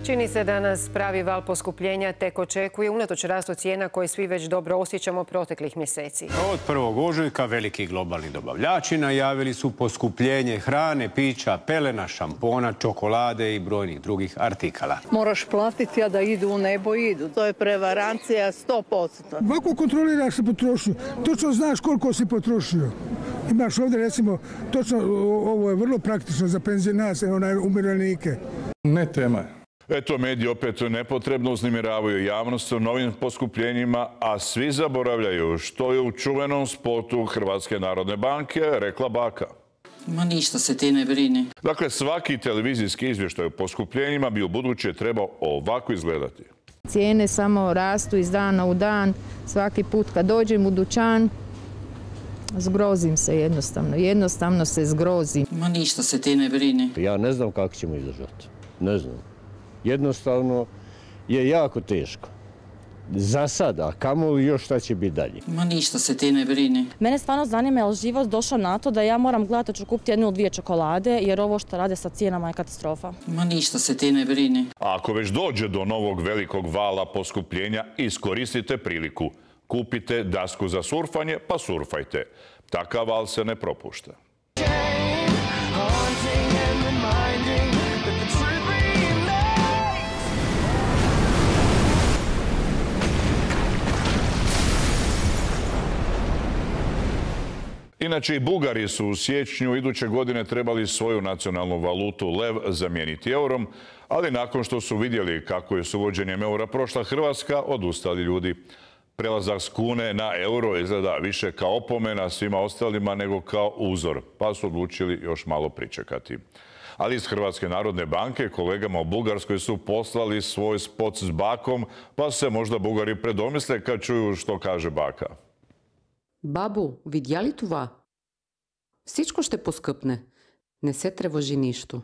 Čini se da nas pravi val poskupljenja tek očekuje unatoč rastu cijena koje svi već dobro osjećamo proteklih mjeseci. Od 1. ožujka veliki globalni dobavljači najavili su poskupljenje hrane, pića, pelena, šampona, čokolade i brojnih drugih artikala. Moraš platiti, a da idu u nebo idu. To je prevarancija 100%. Ovako kontroliraš se potrošnju. Točno znaš koliko si potrošio. Imaš ovdje recimo, točno ovo je vrlo praktično za penzionase, umirovljenike. Ne tema je. Eto, mediji opet nepotrebno uznemiravaju javnost o novim poskupljenjima, a svi zaboravljaju što je u čuvenom spotu Hrvatske narodne banke rekla baka. Ma ništa se ti ne brini. Dakle, svaki televizijski izvještaj o poskupljenjima bi u buduće trebao ovako izgledati. Cijene samo rastu iz dana u dan. Svaki put kad dođem u dućan, zgrozim se jednostavno. Jednostavno se zgrozim. Ma ništa se ti ne brini. Ja ne znam kako ćemo izdržati. Ne znam. Jednostavno je jako teško. Za sada, a kamoli još šta će biti dalje. Ma ništa se ti ne brini. Mene stvarno zanima je li život došao na to da ja moram gledati da ću kupiti 1 ili 2 čokolade, jer ovo što rade sa cijenama je katastrofa. Ma ništa se ti ne brini. A ako već dođe do novog velikog vala poskupljenja, iskoristite priliku. Kupite dasku za surfanje, pa surfajte. Takav val se ne propušta. Inače, i Bugari su u siječnju iduće godine trebali svoju nacionalnu valutu lev zamijeniti eurom, ali nakon što su vidjeli kako je s uvođenjem eura prošla Hrvatska, odustali ljudi. Prelazak s kune na euro izgleda više kao opomena svima ostalima nego kao uzor, pa su odlučili još malo pričekati. Ali iz Hrvatske narodne banke kolegama u Bugarskoj su poslali svoj spot s bakom, pa se možda Bugari predomisle kad čuju što kaže baka. Бабу, видя ли това? Всичко ще поскъпне. Не се тревожи нищо.